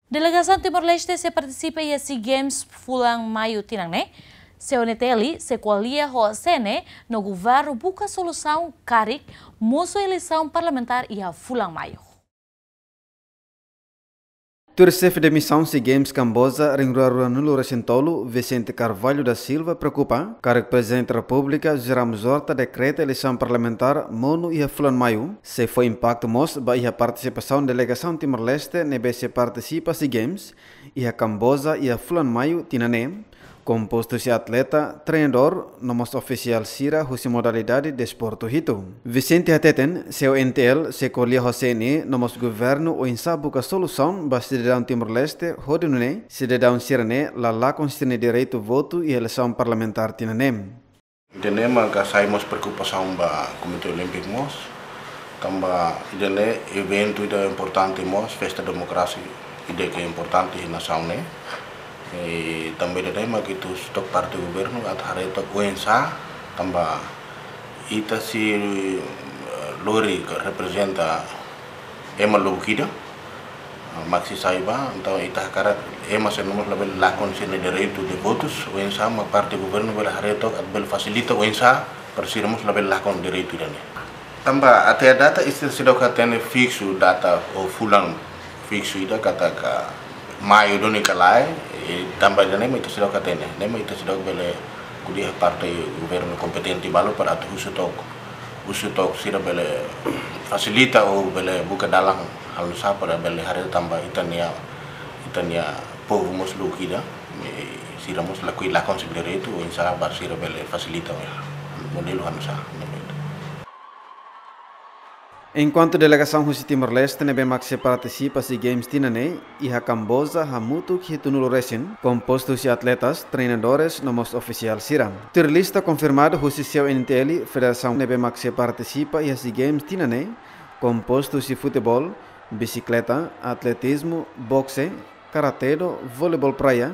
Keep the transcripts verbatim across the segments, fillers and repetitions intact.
Delegasaun Timor-Leste sei partisipa iha SEA Games fulan Maiu tinan ne'e. CNTL sei ko'alia ho CNE no governu buka solusaun karik mosu eleisaun parlamentár iha fulan Maiu. Tuir xefe de misaun SEA Games Kamboja, rin rua rua nulu resin tolu, Vicente Carvalho da Silva, preokupa karik Prezidente Repúblika José Ramos Horta dekreta eleisaun parlamentár monu iha fulan Maiu, sei fó impaktu mós ba iha partisipasaun delegasaun Timor-Leste ne'ebé sei partisipa SEA Games iha Kamboja iha fulan Maiu tinan ne'e, kompostu husi atleta, treinadór no mós ofisiál sira husi modalidade desportu hitu. Vicente hateten, CNTL sei ko'alia ho CNE no mós governu oinsá buka solusaun ba sidadaun Timor-Leste hodi nune'e sidadaun sira-ne'e la lakon sira-nia direitu votu iha eleisaun parlamentár tinan ne'e. Ida-ne'e maka sai mós preokupasaun ba Komité Olímpiku mós, tanba ida-ne'e eventu ida importante mós, festa demokrasia ida ke importante iha nasaun ne'e. I tanba ida-ne'e maka ita husu took parte governu atu haree took oinsá, tanba ita sei, eh, lori ka reprezenta ema lubuk ida, ah, mak sei sai ba, entaun ita hakarak ema sira-ne'e mós labele lakon sira-nia direitu de votus, oinsá mak parte governu bele haree took atu bele fasilita oinsá para sira mós labele lakon direitu ida-ne'e. Tanba até data ita seidauk hatene fiksu data ou fulan fiksu ida katak Maiu duni ka lae, i tanba ida-ne'e mak ita seidauk hatene, ne'e mak ita seidauk bele ko'alia ho parte governu kompetente balu para atu husu took, husu took sira bele fasilita ou bele buka dalan halo nu'usá para bele haree tanba ita-nia, ita-nia povu mós lubuk ida, i sira mós lakohi lakon sira-nia direitu, oinsá ba sira bele fasilita, ya, modelu halo nu'usá, ne'e mak ida. Enkuantu delegasaun husi Timor-Leste ne'ebé mak sei partisipa SEA Games tinan ne'e iha Kamboja hamutuk hitunulu resin, kompostu husi atletas, treinadores no mós ofisiál sira. Tuir lista konfirmadu husi CNTL, federasaun ne'ebé mak sei partisipa iha SEA Games tinan ne'e kompostu husi futeból, bisikleta, atletizmu, bokse, karate-do, voleibol praia,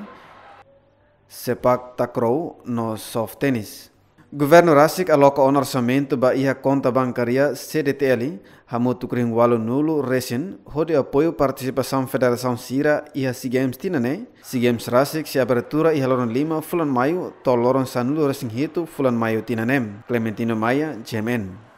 sepak takraw no soft tennis. Governu rasik aloka ona orsamentu ba iha konta bankária CDTL hamutuk rihun ualunulu resin hodi apoiu partisipasaun federasaun sira iha SEA Games tinan ne'e. SEA Games rasik sei abertura iha loron lima fulan Maiu to'o loron sanulu resin hitu fulan Maiu tinan ne'e. Clementino Maia, GMN.